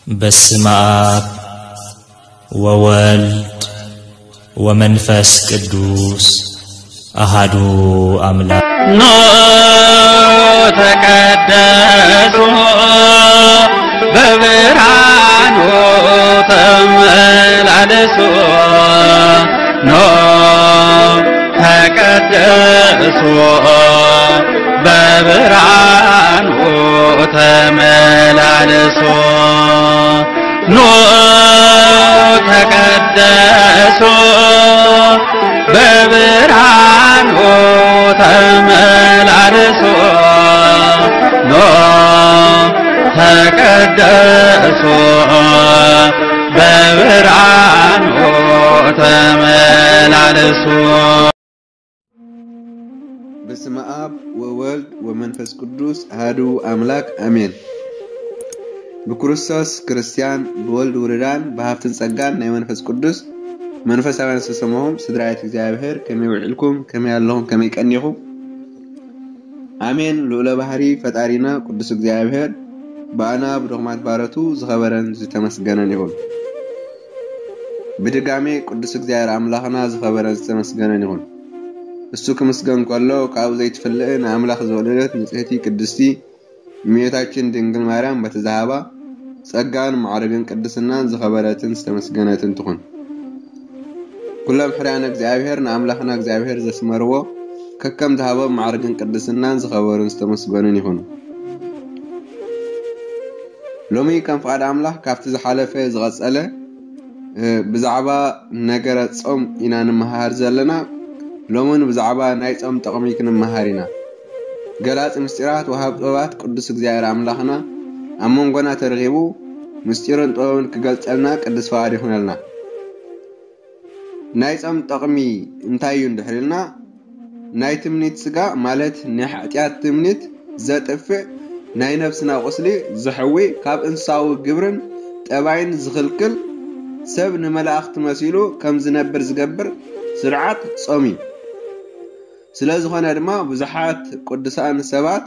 በስመ አብ ወወልድ ወመንፈስ ቅዱስ አሃዱ አምላክ። ኖ ተቀደሱ በብርሃኑ ተመላለሱ። ኖ ተቀደሱ በብርሃኑ ተመላለሱ። ኖ ተቀደሱ በብርሃኑ ተመላለሱ። ኖ ተቀደሱ በብርሃኑ ተመላለሱ። በስመ አብ ወወልድ ወመንፈስ ቅዱስ አሐዱ አምላክ አሜን። ብክርስቶስ ክርስቲያን፣ ብወልድ ውሉዳን፣ ብሃብትን ጸጋን ናይ መንፈስ ቅዱስ መንፈሳውያን ዝተሰማኹም ስድራቤት እግዚኣብሔር፣ ከመይ ውዒልኩም? ከመይ ኣለኹም? ከመይ ቀኒኹም? ኣሜን። ልዑለ ባህሪ ፈጣሪና ቅዱስ እግዚኣብሔር ብኣና ብድኹማት ባሮቱ ዝኸበረን ዝተመስገነን ይኹን። ብድጋሜ ቅዱስ እግዚኣብሔር ኣምላኽና ዝኸበረን ዝተመስገነን ይኹን። እሱ ክምስገን ከሎ ካብኡ ዘይትፍለእ ንኣምላኽ ዝወለደት ንጽህቲ ቅድስቲ እመቤታችን ድንግል ማርያም በቲ ዝሃባ ጸጋን ማዕርግን ቅድስናን ዝኸበረትን ዝተመስገነትን ትኹን። ኩሎም ሕርያነ እግዚኣብሔር ንኣምላኽና እግዚኣብሔር ዘስመርዎ ከከም ዝሃቦም ማዕርግን ቅድስናን ዝኸበሩን ዝተመስገኑን ይኹኑ። ሎሚ ከም ፍቓድ ኣምላኽ ካብቲ ዝሓለፈ ዝቐጸለ፣ እ፣ ብዛዕባ ነገረ ጾም ኢና ንምሃር ዘለና። ሎምን ብዛዕባ ናይ ጾም ጥቕሚ ክንመሃር ኢና። ገላጺ ምስጢራት ወሃብ ጥበባት ቅዱስ እግዚኣብሔር ኣምላኽና ኣብ መንጎና ተረኺቡ ምስጢርን ጥበብን ክገልጸልና ቅዱስ ፍቓድ ይኹነልና። ናይ ጾም ጥቕሚ እንታይ እዩ እንድሕር ኢልና፣ ናይ ትምኒት ስጋ ማለት ናይ ሓጢኣት ትምኒት ዘጥፍእ፣ ናይ ነፍስና ቁስሊ ዝሕዊ፣ ካብ እንስሳዊ ግብርን ጠባይን ዝኽልክል፣ ሰብ ንመላእኽቲ መሲሉ ከም ዝነብር ዝገብር ስርዓት ጾም እዩ። ስለ ዝኾነ ድማ ብዙሓት ቅዱሳን ሰባት፣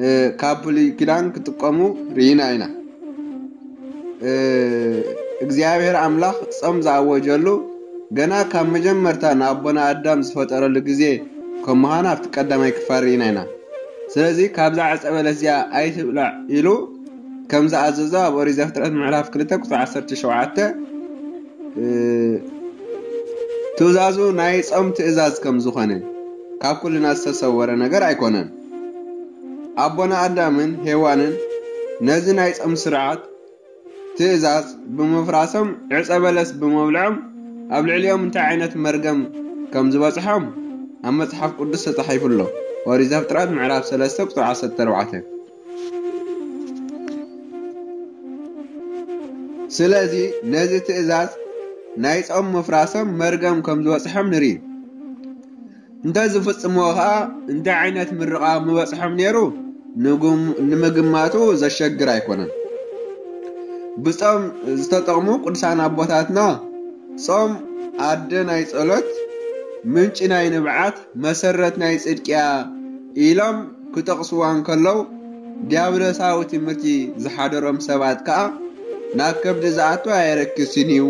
እ፣ ካብ ብሉይ ኪዳን ክጥቀሙ ርኢና ኢና። እ፣ እግዚኣብሔር ኣምላኽ ጾም ዝኣወጀሉ ገና ካብ መጀመርታ ንኣቦና ኣዳም ዝፈጠረሉ ግዜ ከም ምዃኑ ኣብቲ ቀዳማይ ክፋል ርኢና ኢና። ስለዚ ካብዛ ዕፀ በለስ እዚኣ ኣይትብላዕ ኢሉ ከም ዝኣዘዞ ኣብ ኦሪት ዘፍጥረት ምዕራፍ ክልተ ቁፅሪ ዓሰርተ ሸውዓተ፣ እ፣ ትእዛዙ ናይ ጾም ትእዛዝ ከም ዝኾነ ካብ ኩልና ዝተሰወረ ነገር ኣይኮነን። ኣቦና ኣዳምን ሄዋንን ነዚ ናይ ጾም ስርዓት ትእዛዝ ብምፍራሶም ዕጸ በለስ ብምብልዖም ኣብ ልዕሊኦም እንታይ ዓይነት መርገም ከም ዝበጽሖም ኣብ መጽሓፍ ቅዱስ ተጻሒፉ ኣሎ። ኦሪት ዘፍጥረት ምዕራፍ ሰለስተ ቁጽሪ ዓሰርተ ኣርባዕተ። ስለዚ ነዚ ትእዛዝ ናይ ጾም ምፍራሶም መርገም ከም ዝበጽሖም ንርኢ። እንተ ዝፍጽምዎ ኸኣ እንታይ ዓይነት ምርቓ ምበጽሖም ነይሩ ንጉም-፣ ንምግማቱ ዘሸግር ኣይኮነን። ብጾም ዝተጠቕሙ ቅዱሳን ኣቦታትና ጾም ኣደ ናይ ጸሎት፣ ምንጪ ናይ ንብዓት፣ መሰረት ናይ ጽድቅያ ኢሎም ክጠቕስዋ እንከለዉ፣ ዲያብሎሳዊ ትምህርቲ ዝሓደሮም ሰባት ከኣ ናብ ከብዲ ዝኣቱ ኣየረክስን እዩ።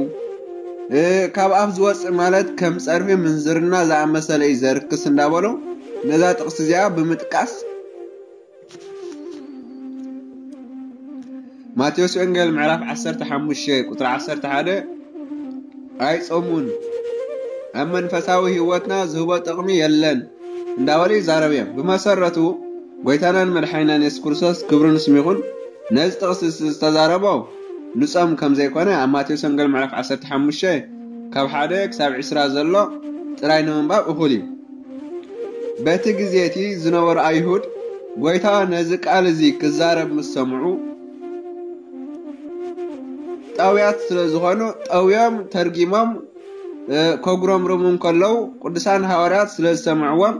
እ፣ ካብ ኣፍ ዝወጽእ ማለት ከም ጸርፊ ምንዝርና ዝኣመሰለ እዩ ዘርክስ እንዳበሉ ነዛ ጥቕሲ እዚኣ ብምጥቃስ ማቴዎስ ወንጌል ምዕራፍ ዓሰርተ ሓሙሽተ ቁጽሪ ዓሰርተ ሓደ ኣይጾሙን፣ ኣብ መንፈሳዊ ህይወትና ዝህቦ ጥቕሚ የለን እንዳበሉ ይዛረቡ እዮም። ብመሰረቱ ጎይታናን መድሓኒናን የሱስ ክርስቶስ ክብሪ ንስሙ ይኹን ነዚ ጥቕሲ ዝተዛረቦ ንጾም ከም ዘይኮነ ኣብ ማቴዎስ ወንጌል ምዕራፍ ዓሰርተ ሓሙሽተ ካብ ሓደ ክሳብ ዕስራ ዘሎ ጥራይ ንምንባብ እኹል እዩ። በቲ ግዜ እቲ ዝነበሩ ኣይሁድ ጎይታ ነዚ ቃል እዚ ክዛረብ ምስ ሰምዑ ጠውያት ስለ ዝኾኑ ጠውዮም ተርጊሞም እ፣ ከጉረምርሙ እንከለዉ ቅዱሳን ሃዋርያት ስለ ዝሰምዕዎም፣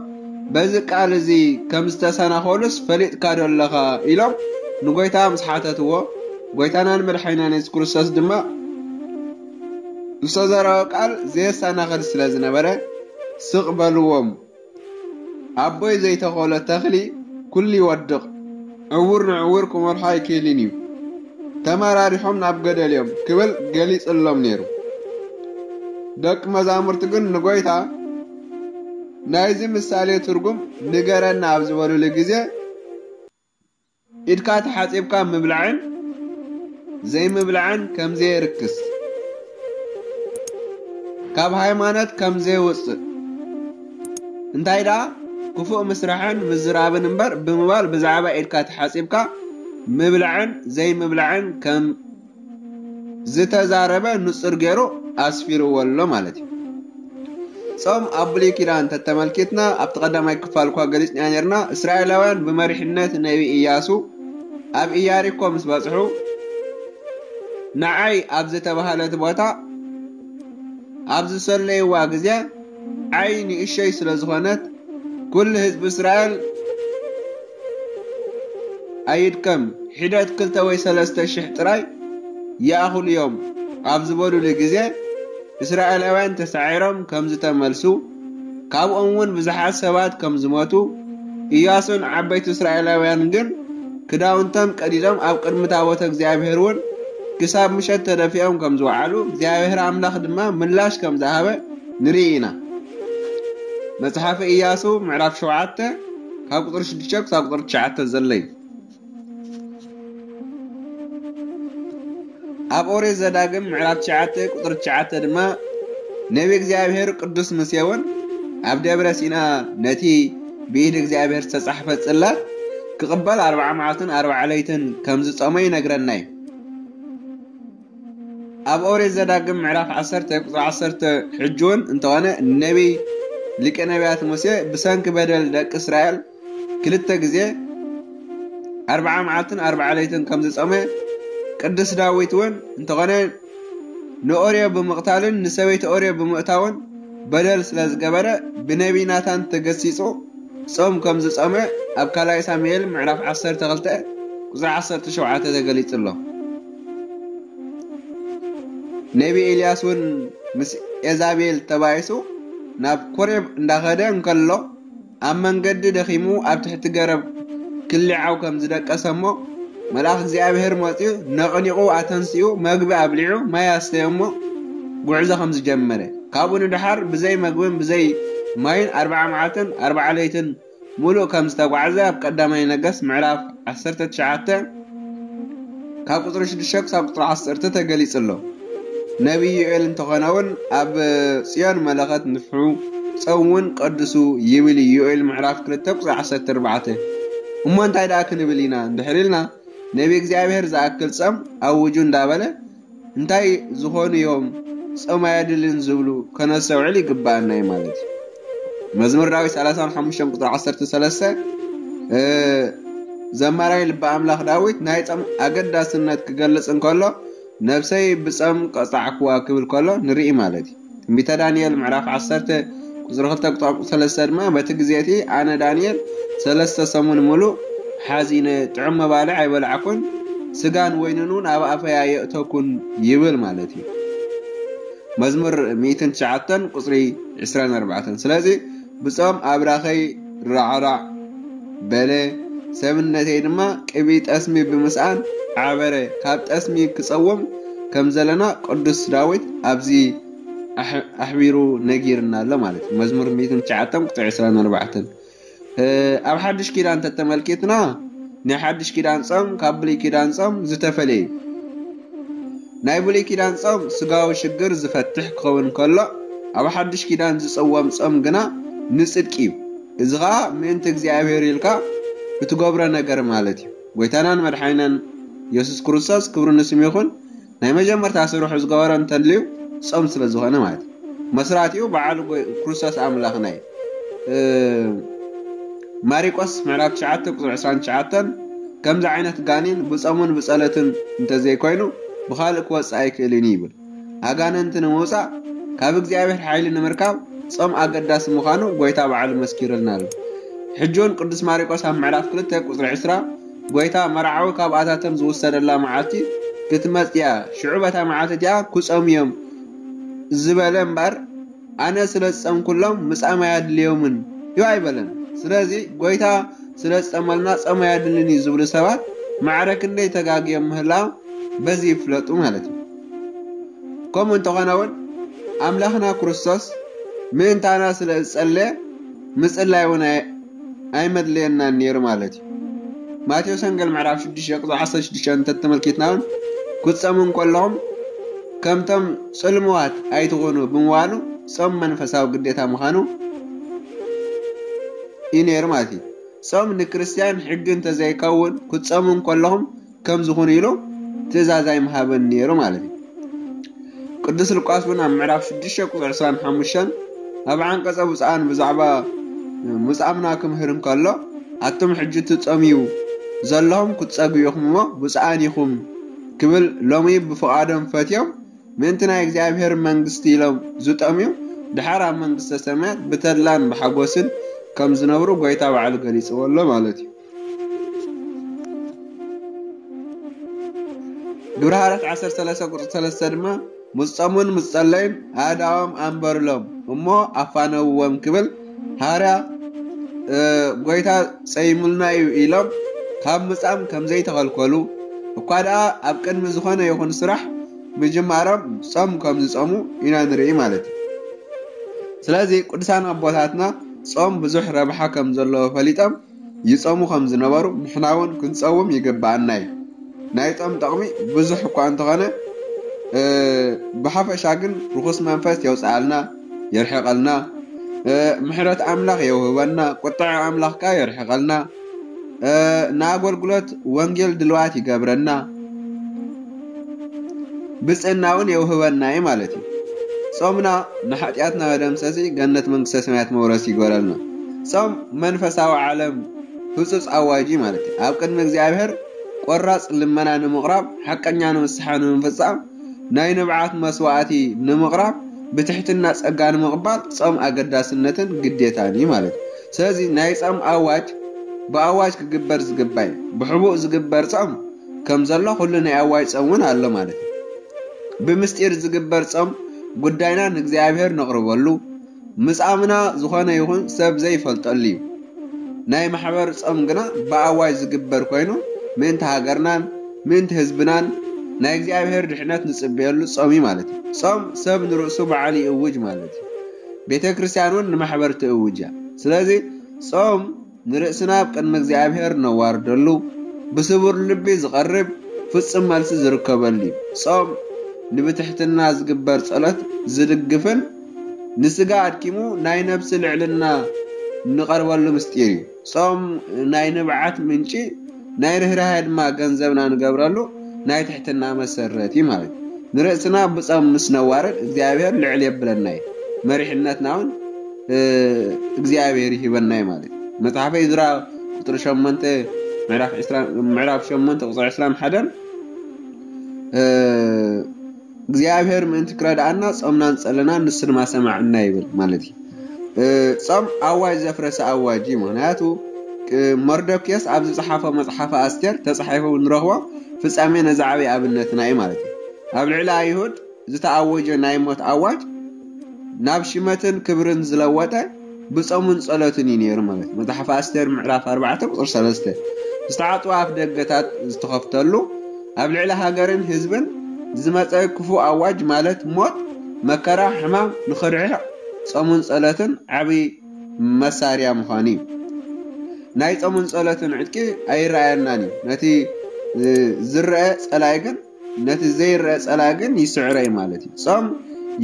በዚ ቃል እዚ ከም ዝተሰናኸሉስ ፈሊጥካ ዶ ኣለኻ? ኢሎም ንጎይታ ምስ ሓተትዎ፣ ጎይታናን መድሓኒናን የሱስ ክርስቶስ ድማ ዝተዘረበ ቃል ዘየሰናኽል ስለ ዝነበረ፣ ስቕ በልዎም። ኣቦይ ዘይተኸሎ ተኽሊ ኩሉ ይወድቕ፣ ዕዉር ንዕዉር ክመርሖ ኣይክእልን እዩ። ተመራሪሖም ናብ ገደል እዮም ክብል ገሊጽሎም ነይሩ። ደቂ መዛሙርቱ ግን ንጎይታ ናይዚ ምሳሌ ትርጉም ንገረና ኣብ ዝበሉሉ ግዜ፣ ኢድካ ተሓጺብካ ምብላዕን ዘይምብላዕን ከም ዘየርክስ፣ ካብ ሃይማኖት ከም ዘየውጽእ፣ እንታይ ደኣ ክፉእ ምስራሕን ምዝራብን እምበር ብምባል ብዛዕባ ኢድካ ተሓጺብካ ምብላዕን ዘይምብላዕን ከም ዝተዛረበ ንጹር ገይሩ ኣስፊርዎ ኣሎ ማለት እዩ። ጾም ኣብ ብሉይ ኪዳን ተተመልኪትና ኣብቲ ቀዳማይ ክፋል እኳ ገሊጽና ነርና። እስራኤላውያን ብመሪሕነት ነቢ ኢያሱ ኣብ ኢያሪኮ ምስ በጽሑ፣ ንዓይ ኣብ ዝተባህለት ቦታ ኣብ ዝሰለይዋ ግዜ፣ ዓይ ንእሸይ ስለ ዝኾነት፣ ኩሉ ህዝቢ እስራኤል ኣይድከም፣ ሒደት ክልተ ወይ ሰለስተ ሽሕ ጥራይ ይኣኽሉ እዮም ኣብ ዝበሉሉ ግዜ፣ እስራኤላውያን ተሳዒሮም ከም ዝተመልሱ፣ ካብኦም እውን ብዙሓት ሰባት ከም ዝሞቱ፣ ኢያሱን ዓበይቲ እስራኤላውያን ግን ክዳውንቶም ቀዲዶም ኣብ ቅድሚ ታቦተ እግዚኣብሔር እውን ክሳብ ምሸት ተደፊኦም ከም ዝወዓሉ፣ እግዚኣብሔር ኣምላኽ ድማ ምላሽ ከም ዝሃበ ንርኢ ኢና። መጽሓፈ ኢያሱ ምዕራፍ ሸውዓተ ካብ ቁጽሪ ሽዱሽተ ክሳብ ቁጽሪ ትሽዓተ ዘሎ እዩ። ኣብ ኦሪት ዘዳግም ምዕራፍ ትሽዓተ ቁጽሪ ትሽዓተ ድማ፣ ነቢ እግዚኣብሔር ቅዱስ ሙሴ እውን ኣብ ደብረ ሲና ነቲ ብኢድ እግዚኣብሔር ዝተጻሕፈ ጽላት ክቕበል ኣርብዓ መዓልትን ኣርብዓ ለይትን ከም ዝጾመ ይነግረና እዩ። ኣብ ኦሪት ዘዳግም ምዕራፍ ዓሰርተ ቁጽሪ ዓሰርተ ሕጂ እውን እንተኾነ፣ ነቢ ሊቀ ነቢያት ሙሴ ብሰንኪ በደል ደቂ እስራኤል ክልተ ግዜ ኣርብዓ መዓልትን ኣርብዓ ለይትን ከም ዝጾመ፣ ቅዱስ ዳዊት እውን እንተኾነ ንኦርዮ ብምቕታልን ንሰበይቲ ኦርዮ ብምእታውን በደል ስለ ዝገበረ፣ ብነቢይ ናታን ተገሲጹ ጾም ከም ዝጾመ ኣብ ካልኣይ ሳሙኤል ምዕራፍ ዓሰርተ ክልተ ቁጽሪ ዓሰርተ ሸውዓተ ተገሊጹ ኣሎ። ነቢ ኤልያስ እውን ምስ ኤዛቤል ተባኢሱ ናብ ኮሬብ እንዳኸደ እንከሎ፣ ኣብ መንገዲ ደኺሙ ኣብ ትሕቲ ገረብ ክሊዓው ከም ዝደቀሰ እሞ፣ መልኣኽ እግዚኣብሔር መጺኡ ነቕኒቑ ኣተንሲኡ፣ መግቢ ኣብሊዑ፣ ማይ ኣስተየ እሞ፣ ጉዕዞ ከም ዝጀመረ፣ ካብኡ ንደሓር ብዘይ መግብን ብዘይ ማይን ኣርብዓ መዓልትን ኣርብዓ ለይትን ምሉእ ከም ዝተጓዕዘ ኣብ ቀዳማይ ነገስት ምዕራፍ ዓሰርተ ትሽዓተ ካብ ቁጽሪ ሽዱሽተ ክሳብ ቁጽሪ ዓሰርተ ተገሊጹ ኣሎ። ነቢይ ዮኤል እንተኾነ እውን ኣብ ጽዮን መለኸት ንፍሑ፣ ጾም እውን ቀድሱ ይብል እዩ። ዮኤል ምዕራፍ ክልተ ቁጽሪ ዓሰርተ ኣርባዕተ። እሞ እንታይ ደኣ ክንብል ኢና እንድሕር ኢልና፣ ነቢ እግዚኣብሔር ዝኣክል ጾም ኣውጁ እንዳበለ እንታይ ዝኾኑ እዮም ጾም ኣየድልን ዝብሉ ከነስተውዕል ይግብኣና እዩ ማለት እዩ። መዝሙር ዳዊት ሰላሳን ሓሙሽተን ቁጽሪ ዓሰርተ ሰለስተ፣ እ፣ ዘማራይ ልበ ኣምላኽ ዳዊት ናይ ጾም ኣገዳስነት ክገልጽ እንከሎ፣ "ነብሰይ ብጾም ቀጻዕክዋ" ክብል ከሎ ንርኢ ማለት እዩ። ትንቢተ ዳንኤል ምዕራፍ ዓሰርተ ቁጽሪ ክልተ ቁጽሪ ሰለስተ ድማ፣ "በቲ ግዜ እቲ ኣነ ዳንኤል ሰለስተ ሰሙን ምሉእ ሓዚነ፣ ጥዑም መባልዕ ኣይበላዕኩን፣ ስጋን ወይንን እውን ኣብ ኣፈይ ኣየእተኩን" ይብል ማለት እዩ። መዝሙር ሚእትን ትሽዓተን ቁጽሪ ዕስራን ኣርባዕተን። ስለዚ ብጾም ኣብራኸይ ራዕራዕ በለ፣ ሰብነተይ ድማ ቅብኢ ጠስሚ ብምስኣን ዓበረ። ካብ ጠስሚ ክጸውም ከም ዘለና ቅዱስ ዳዊት ኣብዚ ኣሕ-፣ ኣሕቢሩ ነጊርና ኣሎ ማለት እዩ። መዝሙር ሚእትን ትሽዓተን ቁጽሪ ዕስራን ኣርባዕተን። እ፣ ኣብ ሓድሽ ኪዳን ተተመልኪትና፣ ናይ ሓድሽ ኪዳን ጾም ካብ ብሉይ ኪዳን ጾም ዝተፈለየ እዩ። ናይ ብሉይ ኪዳን ጾም ስጋዊ ሽግር ዝፈትሕ ክኸውን ከሎ፣ ኣብ ሓድሽ ኪዳን ዝጽወም ጾም ግና ንጽድቂ እዩ። እዚ ኸኣ ምእንቲ እግዚኣብሔር ኢልካ እትገብሮ ነገር ማለት እዩ። ጎይታናን መድሓኒናን የሱስ ክርስቶስ፣ ክብሪ ንስሙ ይኹን፣ ናይ መጀመርታ ስርሑ ዝገበሮ እንተልዩ ጾም ስለ ዝኾነ ማለት እዩ። መስራቲኡ በዓሉ ጎይ-፣ ክርስቶስ ኣምላኽና እዩ። እ፣ ማሪቆስ ምዕራፍ ትሽዓተ ቁጽሪ ዕስራን ትሽዓተን፣ ከምዚ ዓይነት ጋኔን ብጾምን ብጸሎትን እንተዘይኮይኑ ብኻልእ ክወጽእ ኣይክእልን እዩ ይብል። ኣጋንንቲ ንምውጻእ ካብ እግዚኣብሔር ሓይሊ ንምርካብ ጾም ኣገዳሲ ምዃኑ ጎይታ ባዕሉ መስኪሩልና ኣሎ። ሕጂ እውን ቅዱስ ማሪቆስ ኣብ ምዕራፍ ክልተ ቁጽሪ ዕስራ፣ ጎይታ መርዓዊ ካብኣታቶም ዝውሰደላ መዓልቲ ክትመጽእ እያ፣ ሽዑ በታ መዓልቲ እቲኣ ክጾሙ እዮም ዝበለ እምበር፣ ኣነ ስለ ዝጸምኩሎም ምጻም ኣየድልዮምን እዩ ኣይበለን። ስለዚ ጎይታ ስለ ዝጸመልና ጾም ኣየድልን እዩ ዝብሉ ሰባት ማዕረ ክንደይ ተጋግዮም ምህላዎም በዚ ይፍለጡ ማለት እዩ። ከምኡ እንተኾነ እውን ኣምላኽና ክርስቶስ ምእንታና ስለ ዝጸለየ ምጽላይ እውን ኣይ- ኣይመድለየናን ነይሩ ማለት እዩ። ማቴዎስ ወንጌል ምዕራፍ ሽዱሽተ ቁጽሪ ዓሰርተ ሽዱሽተ እንተተመልኪትና እውን ክትጸሙ እንከለኹም ከምቶም ጽልምዋት ኣይትኾኑ ብምባሉ ጾም መንፈሳዊ ግዴታ ምዃኑ እዩ ነይሩ ማለት እዩ። ጾም ንክርስትያን ሕጊ እንተዘይከውን ክትጸሙ እንከለኹም ከም ዝኾኑ ኢሉ ትእዛዝ ኣይምሃበን ነይሩ ማለት እዩ። ቅዱስ ሉቃስ እውን ኣብ ምዕራፍ ሽዱሽተ ቁጽሪ ዕስራን ሓሙሽተን ኣብ ዓንቀጸ ብፁዓን ብዛዕባ ምጻምና ክምህር እንከሎ ኣቱም ሕጂ ትጸምዩ ዘለኹም ክትጸግዩ ኢኹም እሞ ብፁዓን ኢኹም ክብል ሎሚ ብፍቓዶም ፈትዮም ምእንቲ ናይ እግዚኣብሔር መንግስቲ ኢሎም ዝጠምዩ ድሓር ኣብ መንግስተ ሰማያት ብተድላን ብሓጎስን ከም ዝነብሩ ጎይታ ባዕሉ ገሊጽዎ ኣሎ ማለት እዩ። ግብረ ሃዋርያት ዓሰርተ ሰለስተ ቁጽሪ ሰለስተ ድማ ምስ ጾሙን ምስ ጸለዩን ኣእዳዎም ኣንበሩሎም እሞ ኣፋነውዎም ክብል ሃዋርያ ጎይታ ጸይሙልና እዩ ኢሎም ካብ ምጻም ከም ዘይተኸልከሉ እኳ ደኣ ኣብ ቅድሚ ዝኾነ ይኹን ስራሕ ምጅማሮም ጾም ከም ዝጾሙ ኢና ንርኢ ማለት እዩ። ስለዚ ቅዱሳን ኣቦታትና ጾም ብዙሕ ረብሓ ከም ዘለዎ ፈሊጦም ይጾሙ ከም ዝነበሩ ንሕና እውን ክንጸውም ይግብኣና እዩ። ናይ ጾም ጠቕሚ ብዙሕ እኳ እንተኾነ ብሓፈሻ ግን ርኹስ መንፈስ የውፅኣልና፣ የርሕቐልና፣ ምሕረት ኣምላኽ የውህበና፣ ቁጥዐ ኣምላኽ ከኣ የርሕቐልና፣ ንኣገልግሎት ወንጌል ድልዋት ይገብረና፣ ብፅእና እውን የውህበና እዩ ማለት እዩ። ጾምና ንሓጢኣትና መደምሰሲ፣ ገነት መንግስተ ሰማያት መውረሲ ይገበረልና። ጾም መንፈሳዊ ዓለም ህጹጽ ኣዋጅ እዩ ማለት እዩ። ኣብ ቅድሚ እግዚኣብሔር ቆራጽ ልመና ንምቕራብ፣ ሓቀኛ ንስሓ ንምፍጻም፣ ናይ ንብዓት መስዋዕቲ ንምቕራብ፣ ብትሕትና ጸጋ ንምቕባል ጾም ኣገዳስነትን ግዴታን እዩ ማለት እዩ። ስለዚ ናይ ጾም ኣዋጅ ብኣዋጅ ክግበር ዝግባእ እዩ። ብሕቡእ ዝግበር ጾም ከም ዘሎ ኩሉ ናይ ኣዋጅ ጾም እውን ኣሎ ማለት እዩ። ብምስጢር ዝግበር ጾም ጉዳይና ንእግዚኣብሔር ነቕርበሉ፣ ምጻምና ዝኾነ ይኹን ሰብ ዘይፈልጠሉ እዩ። ናይ ማሕበር ጾም ግና ብኣዋጅ ዝግበር ኮይኑ ምእንቲ ሃገርናን ምእንቲ ህዝብናን ናይ እግዚኣብሔር ድሕነት ንጽበየሉ ጾም እዩ ማለት እዩ። ጾም ሰብ ንርእሱ በዓል ይእውጅ ማለት እዩ። ቤተ ክርስቲያን እውን ንማሕበር ትእውጅ እያ። ስለዚ ጾም ንርእስና ኣብ ቅድሚ እግዚኣብሔር ነዋርደሉ፣ ብስቡር ልቢ ዝቐርብ ፍጹም መልሲ ዝርከበሉ እዩ። ጾም ንብትሕትና ዝግበር ጸሎት ዝድግፍን ንስጋ ኣድኪሙ ናይ ነብሲ ልዕልና ንቐርበሉ ምስጢር እዩ። ጾም ናይ ንብዓት ምንጪ፣ ናይ ርህራሄ ድማ ገንዘብና ንገብረሉ ናይ ትሕትና መሰረት እዩ ማለት እዩ። ንርእስና ብጾም ምስ ነዋርድ እግዚኣብሔር ልዕል የብለና እዩ። መሪሕነትና እውን እግዚኣብሔር ይህበና እዩ ማለት እዩ። መጽሓፈ እዝራ ቁጽሪ ሸሞንተ ምዕራፍ ዕስራ ምዕራፍ ሸሞንተ ቁጽሪ ዕስራን ሓደን እግዚኣብሔር ምእንቲ ክረድኣና ጾምናን ጸለናን ንሱ ድማ ሰማዕና ይብል ማለት እዩ። ጾም ኣዋጅ ዘፍረሰ ኣዋጅ እዩ። ምክንያቱ መርዶክዮስ ኣብ ዝጸሓፎ መጽሓፈ ኣስቴር ተጻሒፉ ንረኽቦ ፍጻሜ ነዚ ዓብዪ ኣብነትና እዩ ማለት እዩ። ኣብ ልዕሊ ኣይሁድ ዝተኣወጀ ናይ ሞት ኣዋጅ ናብ ሽመትን ክብርን ዝለወጠ ብጾምን ጸሎትን እዩ ነይሩ ማለት እዩ። መጽሓፍ ኣስቴር ምዕራፍ ኣርባዕተ ቁጽሪ ሰለስተ ዝተዓጽዋ ኣፍ ደገታት ዝተኸፍተሉ ኣብ ልዕሊ ሃገርን ህዝብን ዝመጸ ክፉእ ኣዋጅ ማለት ሞት፣ መከራ፣ ሕማም ንኽርሕቕ ጾምን ጸሎትን ዓቢ መሳርያ ምዃኑ እዩ። ናይ ጾምን ጸሎትን ዕጥቂ ኣይረኣየናን እዩ። ነቲ ዝረአ ጸላኢ ግን ነቲ ዘይረአ ጸላኢ ግን ይስዕሮ እዩ ማለት እዩ። ጾም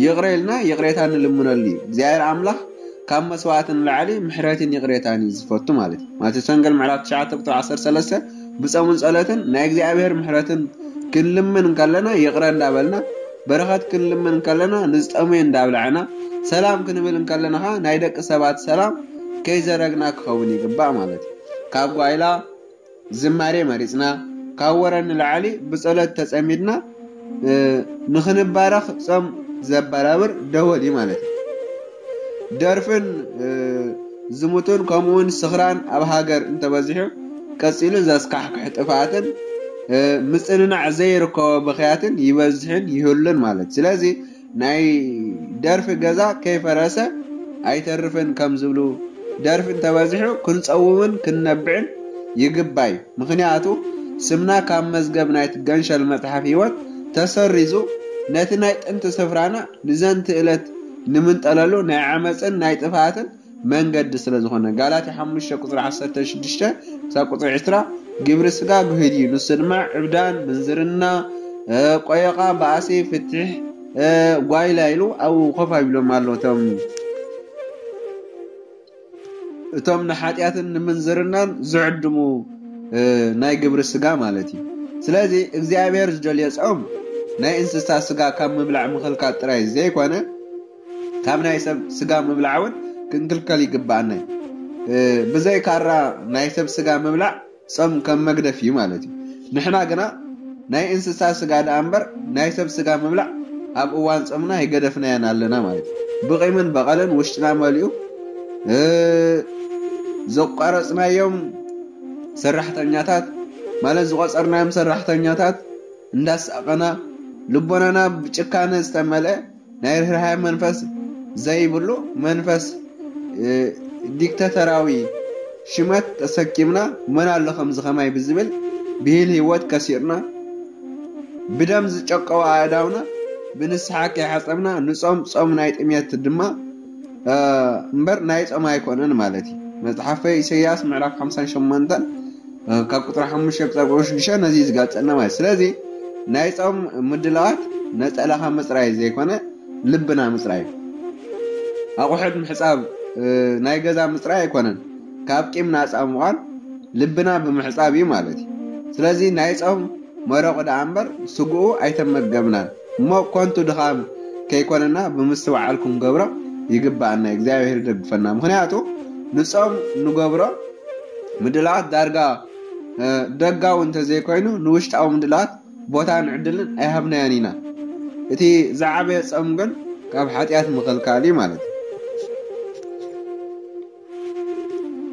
ይቕረ ኢልና ይቕሬታ ንልምነሉ እዩ። እግዚኣብሔር ኣምላኽ ካብ መስዋዕቲ ንላዕሊ ምሕረትን ይቕሬታን እዩ ዝፈቱ ማለት እዩ። ማቴዎስ ወንጌል ምዕራፍ ትሽዓተ ቁጽሪ ዓሰርተ ሰለስተ ብጾምን ጸሎትን ናይ እግዚኣብሔር ምሕረትን ክንልምን እንከለና ይቕረ እንዳበልና፣ በረኸት ክንልምን እንከለና ንዝጠመዩ እንዳብላዕና፣ ሰላም ክንብል እንከለና ኸዓ ናይ ደቂ ሰባት ሰላም ከይዘረግና ክኸውን ይግባእ ማለት እዩ። ካብ ጓይላ ዝማሬ መሪጽና፣ ካብ ወረ ንላዕሊ ብጸሎት ተጸሚድና ንኽንባረኽ ጾም ዘበራብር ደወል እዩ ማለት እዩ። ደርፍን ዝሙትን ከምኡውን ስኽራን ኣብ ሃገር እንተበዚሑ ቀጺሉ ዘስካሕክሕ ጥፍኣትን ምጽንናዕ ዘይርከቦ ብኽያትን ይበዝሕን ይህሉን ማለት። ስለዚ ናይ ደርፊ ገዛ ከይፈረሰ ኣይተርፍን ከም ዝብሉ ደርፊ እንተበዚሑ ክንጸውምን ክንነብዕን ይግባይ። ምኽንያቱ ስምና ካብ መዝገብ ናይቲ ገንሸል መጽሓፍ ህይወት ተሰሪዙ፣ ነቲ ናይ ጥንቲ ስፍራና ንዘንቲ እለት ንምንጠለሉ ናይ ዓመጽን ናይ ጥፍኣትን መንገዲ ስለ ዝኾነ። ጋላትያ ሓሙሽተ ቁጽሪ ዓሰርተ ሽዱሽተ ክሳብ ቁጽሪ ዕስራ፣ ግብሪ ስጋ ግሁድ እዩ፣ ንሱ ድማ ዕብዳን፣ ምንዝርና፣ እ፣ ቆየቓ፣ ባእሲ፣ ፍትሕ፣ እ፣ ጓይላ ኢሉ ኣብኡ ኮፍ ኣቢሎም ኣለዉ። እቶም እቶም ንሓጢኣትን ንምንዝርናን ዝዕድሙ፣ እ፣ ናይ ግብሪ ስጋ ማለት እዩ። ስለዚ እግዚኣብሔር ዝደልዮ ጾም ናይ እንስሳ ስጋ ካብ ምብላዕ ምኽልካል ጥራይ ዘይኮነ፣ ካብ ናይ ሰብ ስጋ ምብላዕ እውን ክንክልከል ይግብኣና እዩ። እ፣ ብዘይ ካራ ናይ ሰብ ስጋ ምብላዕ ጾም ከም መግደፍ እዩ ማለት እዩ። ንሕና ግና ናይ እንስሳ ስጋ ደኣ እምበር ናይ ሰብ ስጋ ምብላዕ ኣብ እዋን ጾምና ኣይገደፍናዮን ኣለና ማለት እዩ። ብቂምን በቐልን ውሽጥና መሊኡ፣ እ፣ ዘቋረጽናዮም ሰራሕተኛታት ማለት ዝቆጸርናዮም ሰራሕተኛታት እንዳሳቐና፣ ልቦናና ብጭካነ ዝተመልአ ናይ ርህራሄ መንፈስ ዘይብሉ መንፈስ፣ እ፣ ዲክታተራዊ ሽመት ተሰኪምና፣ መን ኣሎ ከምዚ ከማይ ብዝብል ብሂል ህይወት ከሲርና፣ ብደም ዝጨቀወ ኣእዳውና ብንስሓ ከይሓጸብና ንጾም ጾም ናይ ጥሜት ድማ፣ እ፣ እምበር ናይ ጾም ኣይኮነን ማለት እዩ። መጽሓፈ ኢሳይያስ ምዕራፍ ሓምሳን ሸሞንተን፣ እ፣ ካብ ቁጽሪ ሓሙሽተ ክሳብ ቁጽሪ ሽዱሽተ ነዚ እዩ ዝገልጸልና ማለት እዩ። ስለዚ ናይ ጾም ምድላዋት ነጸላኻ ምጽራይ ዘይኮነ ልብና ምጽራይ እዩ። ኣቑሑት ምሕጻብ፣ እ፣ ናይ ገዛ ምጽራይ ኣይኮነን። ካብ ቂም ናጻ ምዃን ልብና ብምሕጻብ እዩ ማለት እዩ። ስለዚ ናይ ጾም መረቑ ደኣ እምበር ስግኡ ኣይተመገብናን እሞ ከንቱ ድኻም ከይኮነና ብምስትውዓል ክንገብሮ ይግብኣና። እግዚኣብሔር ይደግፈና። ምኽንያቱ ንጾም ንገብሮ ምድላዋት ዳርጋ፣ እ፣ ደጋዊ እንተዘይኮይኑ ንውሽጣዊ ምድላዋት ቦታን ዕድልን ኣይሃብናዮን ኢና። እቲ ዝዓበየ ጾም ግን ካብ ሓጢኣት ምኽልካል እዩ ማለት እዩ።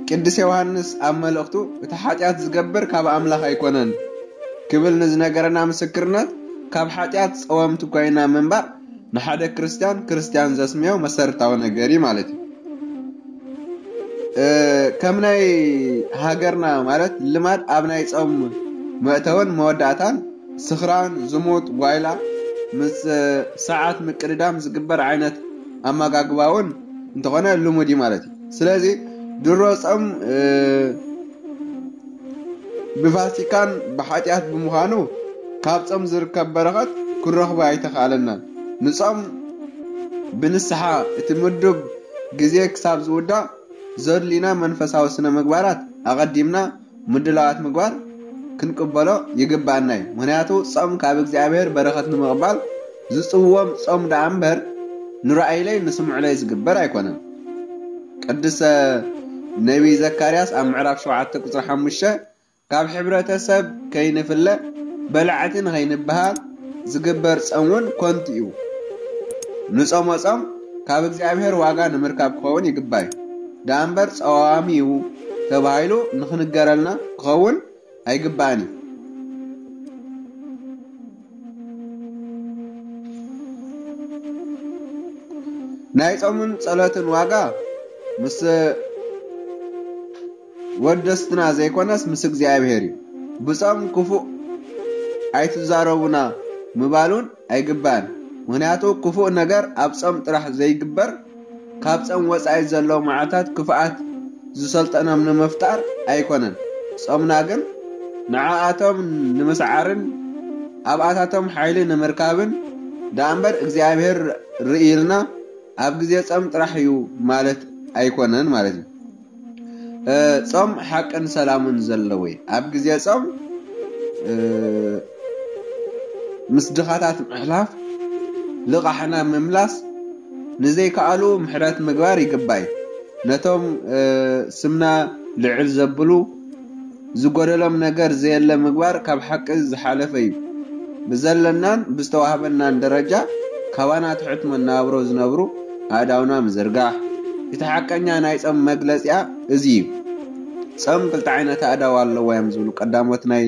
ቅዱስ ዮሃንስ ኣብ መልእኽቱ፣ "እቲ ሓጢኣት ዝገብር ካብ ኣምላኽ ኣይኮነን" ክብል ንዝነገረና ምስክርነት፣ ካብ ሓጢኣት ጸወምቲ ኮይና ምንባር ንሓደ ክርስትያን፣ ክርስትያን ዘስምዮ መሰረታዊ ነገር እዩ ማለት እዩ። እ፣ ከም ናይ ሃገርና ማለት ልማድ ኣብ ናይ ጾም መእተውን መወዳእታን ስኽራን፣ ዝሙት፣ ጓይላ፣ ምስ ሰዓት ምቅድዳም ዝግበር ዓይነት ኣመጋግባ እውን እንተኾነ ልሙድ እዩ ማለት እዩ። ስለዚ ድሮ ጾም፣ እ፣ ብፋሲካን ብሓጢኣት ብምዃኑ ካብ ጾም ዝርከብ በረኸት ክንረኽቦ ኣይተኻእለናን። ንጾም ብንስሓ እቲ ምዱብ ግዜ ክሳብ ዝውዳእ ዘድልዩና መንፈሳዊ ስነ ምግባራት ኣቐዲምና ምድላዋት ምግባር ክንቅበሎ ይግብኣና እዩ። ምኽንያቱ ጾም ካብ እግዚኣብሔር በረኸት ንምቕባል ዝጽውዎም ጾም ደኣ እምበር ንረኣዩለይ ንስምዑለይ ዝግበር ኣይኮነን። ቅዱሰ ነቢይ ዘካርያስ ኣብ ምዕራፍ ሸውዓተ ቁጽሪ ሓሙሽተ፣ "ካብ ሕብረተሰብ ከይንፍለ፣ በላዕቲ ንኸይንበሃል ዝግበር ጾም እውን ከንቱ እዩ። ንጾሞ ጾም ካብ እግዚኣብሔር ዋጋ ንምርካብ ክኸውን ይግባእ እዩ። ደኣ እምበር ጸዋሚ እዩ ተባሂሉ ንኽንገረልና ክኸውን ኣይግባእን እዩ።" ናይ ጾምን ጸሎትን ዋጋ ምስ ወደስትና ዘይኮነስ ምስ እግዚኣብሔር እዩ። ብጾም ክፉእ ኣይትዛረቡና ምባል እውን ኣይግባእን። ምኽንያቱ ክፉእ ነገር ኣብ ጾም ጥራሕ ዘይግበር፣ ካብ ጾም ወጻኢ ዘለዉ መዓልታት ክፍኣት ዝሰልጠኖም ንምፍጣር ኣይኮነን። ጾምና ግን ንዓኣቶም ንምስዓርን ኣብኣታቶም ሓይሊ ንምርካብን ደኣ እምበር እግዚኣብሔር ርእይልና ኣብ ግዜ ጾም ጥራሕ እዩ ማለት ኣይኮነን ማለት እዩ። እ፣ ጾም ሓቅን ሰላምን ዘለዎ እዩ። ኣብ ግዜ ጾም፣ እ፣ ምስ ድኻታት ምሕላፍ፣ ልቓሕና ምምላስ፣ ንዘይከኣሉ ምሕረት ምግባር ይግባእ እዩ። ነቶም፣ እ፣ ስምና ልዕል ዘብሉ፣ ዝጎደሎም ነገር ዘየለ ምግባር ካብ ሓቂ ዝሓለፈ እዩ። ብዘለናን ብዝተዋህበናን ደረጃ ካባና ትሑት መነባብሮ ዝነብሩ ኣእዳውና ምዝርጋሕ። እቲ ሓቀኛ ናይ ጾም መግለጺኣ እዚ እዩ። ጾም ክልተ ዓይነት ኣእዳው ኣለዋ እዮም ዝብሉ ቀዳሞት ናይ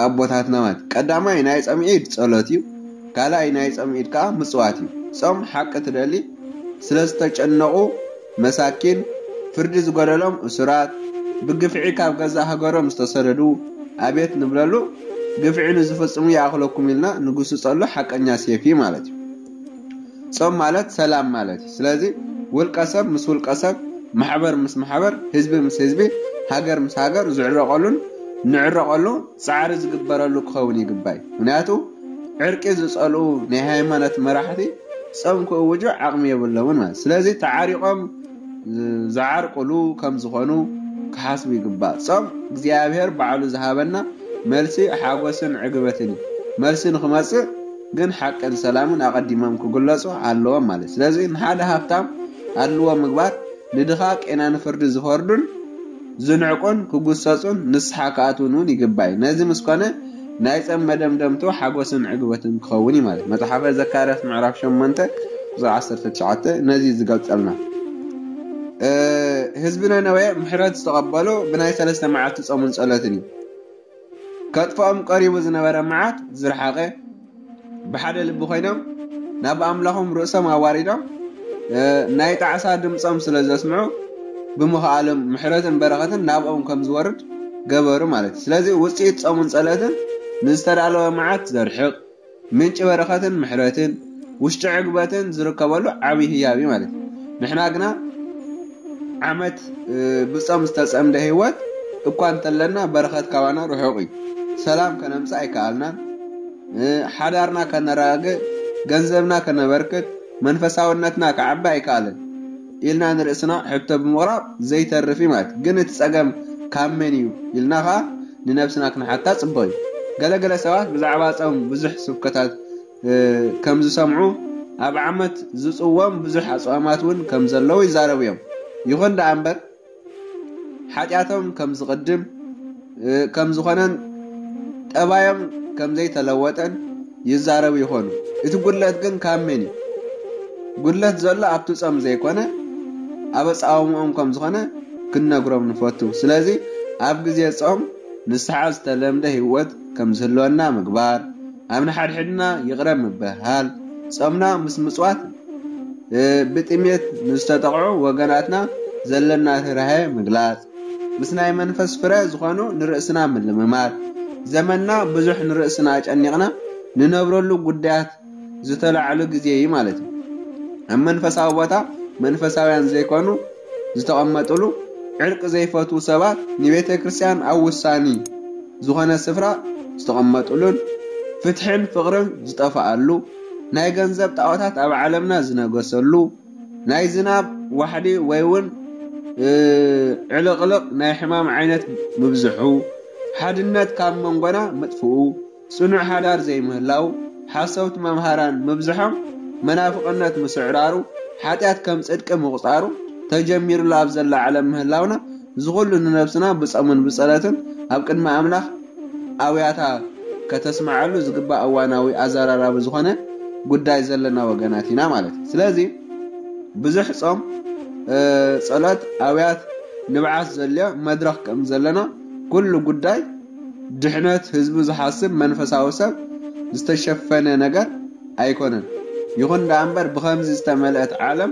ኣቦታትና ማለት። ቀዳማይ ናይ ጾም ኢድ ጸሎት እዩ። ካልኣይ ናይ ጾም ኢድ ከኣ ምጽዋት እዩ። ጾም ሓቂ ትደሊ ስለ ዝተጨነቑ መሳኪን፣ ፍርዲ ዝጎደሎም እሱራት፣ ብግፍዒ ካብ ገዛእ ሃገሮም ዝተሰደዱ፣ ኣቤት ንብለሉ፣ ግፍዒ ንዝፍጽሙ ይኣኽለኩም ኢልና ንጉስጸሉ ሓቀኛ ሴፍ እዩ ማለት እዩ። ጾም ማለት ሰላም ማለት እዩ። ስለዚ ውልቀ ሰብ ምስ ውልቀ ሰብ፣ ማሕበር ምስ ማሕበር፣ ህዝቢ ምስ ህዝቢ፣ ሃገር ምስ ሃገር ዝዕረቐሉን ንዕረቐሉ ጻዕሪ ዝግበረሉ ክኸውን ይግባይ። ምክንያቱ ዕርቂ ዝጸልኡ ናይ ሃይማኖት መራሕቲ ጾም ክእውጁ ዓቕሚ የብሎምን ማለት። ስለዚ ተዓሪቖም ዝዓርቅሉ ከም ዝኾኑ ክሓስቡ ይግባእ። ጾም እግዚኣብሔር ባዕሉ ዝሃበና መልሲ ሓጎስን ዕግበትን እዩ። መልሲ ንክመጽእ ግን ሓቅን ሰላምን ኣቐዲሞም ክግለጹ ኣለዎም ማለት። ስለዚ ንሓደ ሃብታም ኣድልዎ ምግባር ንድኻ ቄና ንፍርዲ ዝፈርዱን ዝንዕቁን ክጉሰጹን ንስሓ ክኣትውን እውን ይግባይ። ነዚ ምስ ኮነ ናይ ጸም መደምደምቱ ሓጎስን ዕግበትን ክኸውን እዩ ማለት። መጽሓፈ ዘካርያስ ምዕራፍ ሸሞንተ ቁጽሪ ዓሰርተ ትሽዓተ ነዚ ዝገልጸልና። እ፣ ህዝቢ ነነዌ ምሕረት ዝተቐበሉ ብናይ ሰለስተ መዓልቲ ጾምን ጸሎትን እዩ። ከጥፍኦም ቀሪቡ ዝነበረ መዓት ዝረሓቐ፣ ብሓደ ልቢ ኮይኖም ናብ ኣምላኾም ርእሶም ኣዋሪዶም፣ እ፣ ናይ ጣዕሳ ድምጾም ስለ ዘስምዑ ብምኽኣሎም ምሕረትን በረኸትን ናብኦም ከም ዝወርድ ገበሩ ማለት እዩ። ስለዚ ውጽኢት ጾምን ጸሎትን ንዝተዳለወ መዓት ዘርሕቕ፣ ምንጪ በረኸትን ምሕረትን ውሽጢ ዕግበትን ዝርከበሉ ዓብዪ ህያብ እዩ ማለት እዩ። ንሕና ግና ዓመት፣ እ፣ ብጾም ዝተጸምደ ህይወት እኳ እንተለና በረኸት ካባና ርሑቕ እዩ። ሰላም ከነምጽእ ኣይከኣልናን። እ፣ ሓዳርና ከነረጋግእ፣ ገንዘብና ከነበርክት፣ መንፈሳውነትና ክዓቢ ኣይከኣልን ኢልና ንርእስና ሕቶ ብምቕራብ ዘይተርፍ እዩ ማለት እዩ። ግን እቲ ጸገም ካብ መን እዩ ኢልና ኸኣ ንነብስና ክንሓታ ጽቡቕ እዩ። ገለገለ ሰባት ብዛዕባ ጾም ብዙሕ ስብከታት፣ እ፣ ከም ዝሰምዑ፣ ኣብ ዓመት ዝጽዎም ብዙሕ ኣጽዋማት እውን ከም ዘለዉ ይዛረቡ እዮም። ይኹን ደኣ እምበር፣ ሓጢኣቶም ከም ዝቕድም፣ እ፣ ከም ዝኾነን ጠባዮም ከም ዘይተለወጠን ይዛረቡ ይኾኑ። እቲ ጉድለት ግን ካብ መን እዩ? ጉድለት ዘሎ ኣብቲ ጾም ዘይኮነ፣ ኣብ ኣጻውምኦም ከም ዝኾነ ክንነግሮም ንፈቱ። ስለዚ ኣብ ግዜ ጾም ንስሓ ዝተለምደ ህይወት ከም ዝህልወና ምግባር፣ ኣብ ንሓድሕድና ይቕረ ምብህሃል፣ ጾምና ምስ ምጽዋት፣ እ፣ ብጥሜት ንዝተጠቕዑ ወገናትና ዘለና ርህራሄ ምግላጽ፣ ምስ ናይ መንፈስ ፍረ ዝኾኑ ንርእስና ምልምማድ፣ ዘመንና ብዙሕ ንርእስና ኣጨኒቕና ንነብረሉ ጉዳያት ዝተላዕሉ ግዜ እዩ ማለት እዩ። ኣብ መንፈሳዊ ቦታ መንፈሳውያን ዘይኮኑ ዝተቐመጥሉ፣ ዕርቂ ዘይፈትዉ ሰባት ንቤተ ክርስቲያን ኣብ ውሳኒ ዝኾነ ስፍራ ዝተቐመጥሉን ፍትሕን ፍቕርን ዝጠፍኣሉ፣ ናይ ገንዘብ ጣዖታት ኣብ ዓለምና ዝነገሰሉ፣ ናይ ዝናብ ዋሕዲ ወይ እውን፣ እ፣ ዕልቕልቕ ናይ ሕማም ዓይነት ምብዝሑ፣ ሓድነት ካብ መንጎና ምጥፍኡ፣ ጽኑዕ ሓዳር ዘይምህላው፣ ሓሰውቲ መምሃራን ምብዝሖም፣ መናፍቕነት ምስዕራሩ፣ ሓጢኣት ከም ጽድቂ ምቑጻሩ ተጀሚሩሉ ኣብ ዘላ ዓለም ምህላውና፣ እዚ ኹሉ ንነብስና ብጾምን ብጸሎትን ኣብ ቅድሚ ኣምላኽ ኣውያታ ከተስምዓሉ ዝግባእ እዋናዊ ኣዘራራቢ ዝኾነ ጉዳይ ዘለና ወገናት ኢና ማለት እዩ። ስለዚ ብዙሕ ጾም፣ እ፣ ጸሎት፣ ኣውያት፣ ንብዓት ዘድልዮ መድረኽ ከም ዘለና፣ ኩሉ ጉዳይ ድሕነት ህዝቡ ዝሓስብ መንፈሳዊ ሰብ ዝተሸፈነ ነገር ኣይኮነን። ይኹን ደኣ እምበር ብኸምዚ ዝተመልአት ዓለም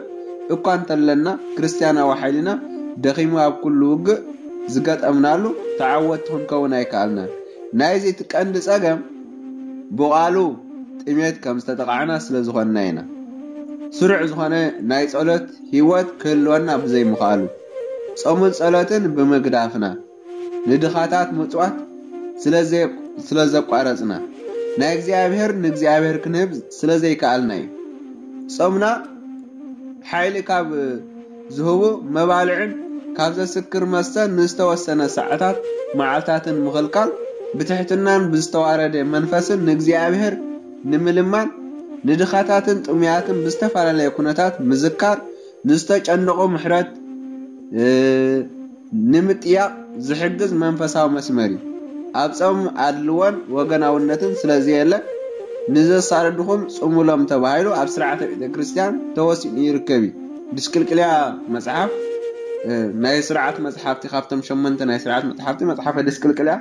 እኳ እንተለና ክርስትያናዊ ሓይልና ደኺሙ ኣብ ኩሉ ውግእ ዝገጠምናሉ ተዓወትቲ ክንከውን ኣይከኣልናን። ናይዚ እቲ ቀንዲ ጸገም ብቓሉ ጥሜት ከም ዝተጠቓዕና ስለ ዝኾንና ኢና። ስሩዕ ዝኾነ ናይ ጸሎት ህይወት ክህልወና ብዘይምኽኣሉ፣ ጾምን ጸሎትን ብምግዳፍና፣ ንድኻታት ምጽዋት ስለ ዘይ-፣ ስለ ዘቋረጽና፣ ናይ እግዚኣብሔር ንእግዚኣብሔር ክንህብ ስለ ዘይከኣልና እዩ። ጾምና ሓይሊ ካብ ዝህቡ መባልዕን ካብ ዘስክር መስተን ንዝተወሰነ ሰዓታት መዓልታትን ምኽልካል፣ ብትሕትናን ብዝተዋረደ መንፈስን ንእግዚኣብሔር ንምልማን፣ ንድኻታትን ጥሙያትን ብዝተፈላለየ ኩነታት ምዝካር፣ ንዝተጨነቑ ምሕረት፣ እ፣ ንምጥያቕ ዝሕግዝ መንፈሳዊ መስመር እዩ። ኣብ ጾም ኣድልዎን ወገናውነትን ስለ ዘየለ፣ ንዘሳደድኹም ጽሙሎም ተባሂሉ ኣብ ስርዓተ ቤተ ክርስቲያን ተወሲኑ ይርከብ እዩ። ድስቅልቅልያ መጽሓፍ፣ እ፣ ናይ ስርዓት መጽሓፍቲ፣ ካብቶም ሸሞንተ ናይ ስርዓት መጽሓፍቲ፣ መጽሓፈ ድስቅልቅልያ፣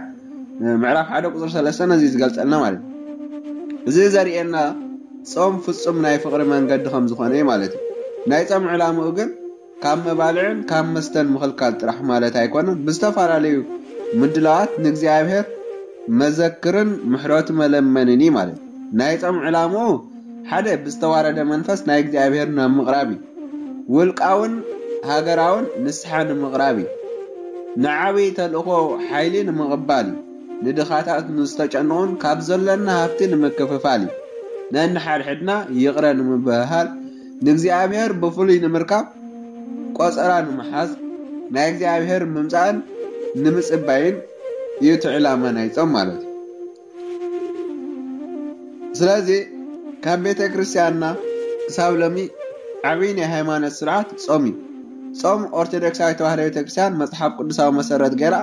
እ፣ ምዕራፍ ሓደ ቁጽሪ ሰለስተ ነዚ ዝገልጸልና ማለት እዩ። እዚ ዘርእየና ጾም ፍጹም ናይ ፍቕሪ መንገዲ ከም ዝኾነ እዩ ማለት እዩ። ናይ ጾም ዕላምኡ ግን ካብ መባልዕን ካብ መስተን ምኽልካል ጥራሕ ማለት ኣይኮነን። ብዝተፈላለዩ ምድላዋት ንእግዚኣብሔር መዘክርን ምሕረቱ መለመንን እዩ ማለት እዩ። ናይ ጾም ዕላምኡ ሓደ ብዝተዋረደ መንፈስ ናይ እግዚኣብሔር ናብ ምቕራብ እዩ። ውልቃውን ሃገራውን ንስሓ ንምቕራብ እዩ። ንዓብዪ ተልእኾ ሓይሊ ንምቕባል እዩ። ንድኻታት ንዝተጨንቑን ካብ ዘሎና ሃብቲ ንምክፍፋል እዩ። ነንሓድሕድና ይቕረ ንምብህሃል ንእግዚኣብሔር ብፍሉይ ንምርካብ ቆጸራ ንምሓዝ ናይ እግዚኣብሔር ምምጻእን ንምጽባይን እዩ እቲ ዕላማ ናይ ጾም ማለት እዩ። ስለዚ ካብ ቤተ ክርስቲያንና ክሳብ ሎሚ ዓብዪ ናይ ሃይማኖት ስርዓት ጾም እዩ። ጾም ኦርቶዶክሳዊ ተዋህዶ ቤተ ክርስቲያን መጽሓፍ ቅዱሳዊ መሰረት ገይራ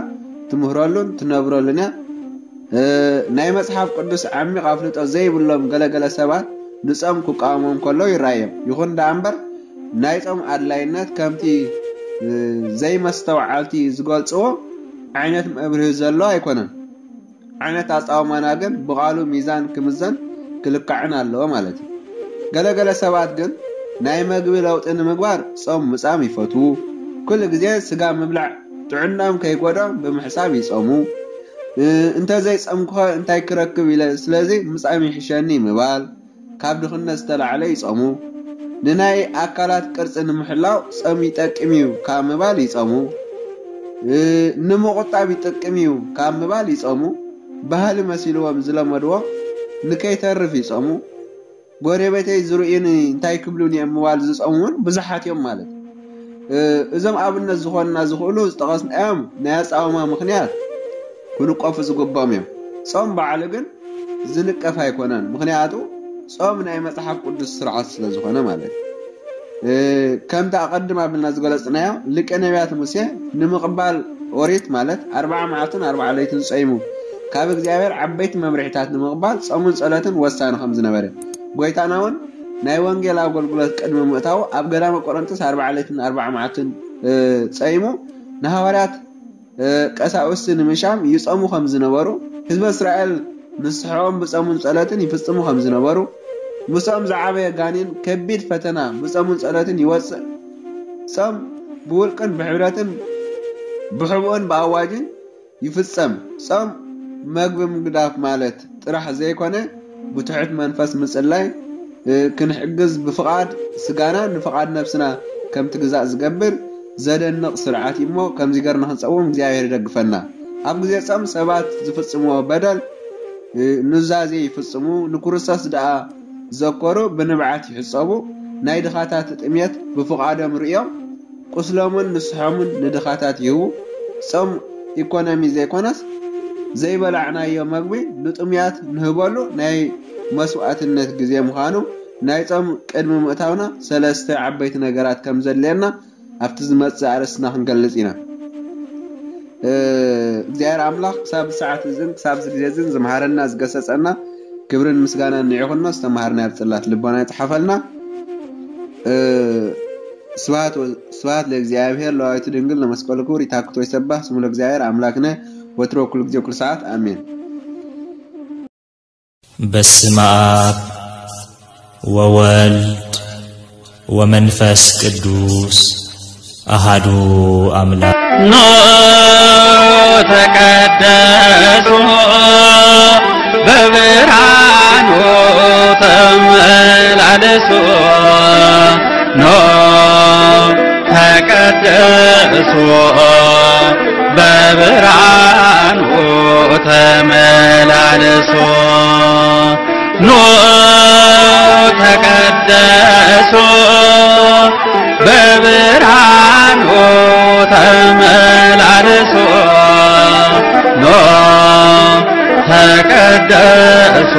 ትምህረሉን ትነብረሉን እያ። ናይ መጽሓፍ ቅዱስ ዓሚቕ ኣፍልጦ ዘይብሎም ገለገለ ሰባት ንጾም ክቃወሞም ከሎ ይረኣዮም። ይኹን ደኣ እምበር ናይ ጾም ኣድላይነት ከምቲ ዘይመስተውዓልቲ ዝገልጽዎ ዓይነት መብርሂ ዘሎ ኣይኮነን። ዓይነት ኣጻውማና ግን ብቓሉ ሚዛን ክምዘን ክልካዕን ኣለዎ ማለት እዩ። ገለገለ ሰባት ግን ናይ መግቢ ለውጢ ንምግባር ጾም ምጻም ይፈትዉ። ኩሉ ግዜ ስጋ ምብላዕ ጥዕናኦም ከይጎድኦም ብምሕሳብ ይጸሙ። እ፣ እንተዘይጸምኩኸ እንታይ ክረክብ ኢለ፣ ስለዚ ምጻም ይሕሸኒ ምባል፣ ካብ ድኽነት ዝተላዕለ ይጸሙ። ንናይ ኣካላት ቅርጺ ንምሕላው ጾም ይጠቅም እዩ ካብ ምባል ይጸሙ። እ፣ ንምቑጣብ ይጠቅም እዩ ካብ ምባል ይጸሙ። ባህሊ መሲልዎም ዝለመድዎ ንከይተርፍ ይጸሙ። ጎረቤተይ ዝርእዩኒ እንታይ ክብሉኒ እዮም ምባል ዝጸሙ እውን ብዙሓት እዮም ማለት እዩ። እ፣ እዞም ኣብነት ዝኾንና ዝኽእሉ ዝጠቐስናዮም ናይ ኣጻውማ ምኽንያት ክንቀፉ ዝግብኦም እዮም። ጾም ባዕሉ ግን ዝንቀፍ ኣይኮነን። ምኽንያቱ ጾም ናይ መጽሓፍ ቅዱስ ስርዓት ስለ ዝኾነ ማለት እዩ። እ፣ ከምቲ ኣቐድም ኣቢልና ዝገለጽናዮ ሊቀ ነቢያት ሙሴ ንምቕባል ኦሪት ማለት ኣርብዓ መዓልትን ኣርብዓ ለይትን ጸይሙ ካብ እግዚኣብሔር ዓበይቲ መምርሒታት ንምቕባል ጾምን ጸሎትን ወሳኒ ከም ዝነበረ ጎይታና እውን ናይ ወንጌል ኣገልግሎት ቅድሚ ምእታዉ ኣብ ገዳመ ቆሮንቶስ ኣርብዓ ለይትን ኣርብዓ መዓልትን፣ እ፣ ጸይሙ ንሃዋርያት፣ እ፣ ቀሳውስቲ ንምሻም ይጸሙ ከም ዝነበሩ፣ ህዝበ እስራኤል ንስሕኦም ብጾምን ጸሎትን ይፍጽሙ ከም ዝነበሩ፣ ምስኦም ዝዓበየ ጋኔን ከቢድ ፈተና ብጾምን ጸሎትን ይወጽእ። ጾም ብውልቅን ብሕብረትን ብሕቡእን ብኣዋጅን ይፍጸም። ጾም መግቢ ምግዳፍ ማለት ጥራሕ ዘይኮነ፣ ብትሑት መንፈስ ምጽላይ፣ እ፣ ክንሕግዝ፣ ብፍቓድ ስጋና ንፍቓድ ነፍስና ከም ትግዛእ ዝገብር ዘደንቕ ስርዓት እዩ እሞ፣ ከምዚ ገርና ክንጸውም እግዚኣብሔር ይደግፈና። ኣብ ግዜ ጾም ሰባት ዝፍጽምዎ በደል፣ እ፣ ኑዛዜ ይፍጽሙ፣ ንክርስቶስ ደኣ ዘከሩ ብንብዓት ይሕጸቡ፣ ናይ ድኻታት ጥሜት ብፍቓዶም ርእዮም፣ ቁስሎምን ንስሖምን ንድኻታት ይህቡ። ጾም ኢኮኖሚ ዘይኮነስ፣ ዘይበላዕናዮ መግቢ ንጥሙያት ንህበሉ ናይ መስዋእትነት ግዜ ምዃኑ፣ ናይ ጾም ቅድሚ ምእታውና ሰለስተ ዓበይቲ ነገራት ከም ዘድልየና ኣብቲ ዝመጽእ ኣርእስትና ክንገልጽ ኢና። እ፣ እግዚኣብሔር ኣምላኽ ክሳብ ሰዓት እዝን ክሳብ እዚ ግዜ እዝን ዝመሃረና ዝገሰጸና ክብርን ምስጋናን ንዕኹኖ፣ ዝተማሃርናዮ ኣብ ጽላት ልቦና ይጽሓፈልና። እ፣ ስብሐት ወ-፣ ስብሐት ለእግዚኣብሔር ለወላዲቱ ድንግል ለመስቀሉ ክቡር። ይታክቶ ይሰባህ ስሙ ለእግዚኣብሔር ኣምላክነ ወትሮ ኩሉ ግዜ ኩሉ ሰዓት ኣሜን። በስመ አብ ወወልድ ወመንፈስ ቅዱስ አሃዱ አምላክ። ኖ ተቀደሱ በብርሃኑ ተመላለሱ። ኖ ተቀደሱ በብርሃኑ ተመላለሱ። ኖ ተቀደሱ በብርሃኑ ተመላለሱ። ኖ ተቀደሱ